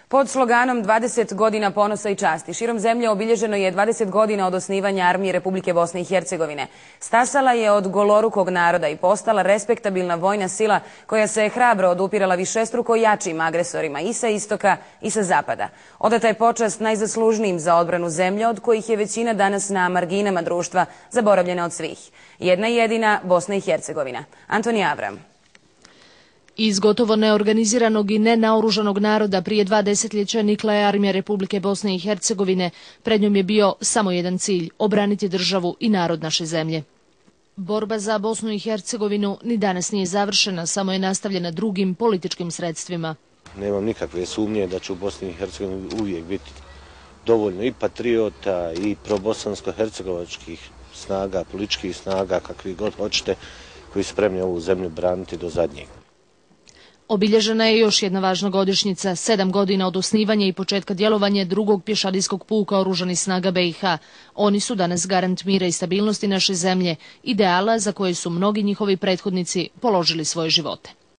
Pod sloganom 20 godina ponosa i časti širom zemlje obilježeno je 20 godina od osnivanja Armije Republike Bosne i Hercegovine. Stasala je od golorukog naroda i postala respektabilna vojna sila koja se je hrabro odupirala višestruko jačim agresorima i sa istoka i sa zapada. Odata je počast najzaslužnijim za odbranu zemlje, od kojih je većina danas na marginama društva zaboravljena od svih. Jedna jedina Bosna i Hercegovina. Antoni Avram. Iz gotovo neorganiziranog i nenaoružanog naroda prije 2 desetljeća nikla je Armija Republike Bosne i Hercegovine. Pred njom je bio samo jedan cilj – obraniti državu i narod naše zemlje. Borba za Bosnu i Hercegovinu ni danas nije završena, samo je nastavljena drugim političkim sredstvima. Nemam nikakve sumnje da će u Bosni i Hercegovini uvijek biti dovoljno i patriota i probosansko-hercegovačkih snaga, političkih snaga, kakvi god hoćete, koji su spremni ovu zemlju braniti do zadnjeg. Obilježena je još jedna važna godišnjica, 7 godina od osnivanja i početka djelovanja drugog pješadijskog puka oružanih snaga BiH. Oni su danas garant mira i stabilnosti naše zemlje, ideala za koje su mnogi njihovi prethodnici položili svoje živote.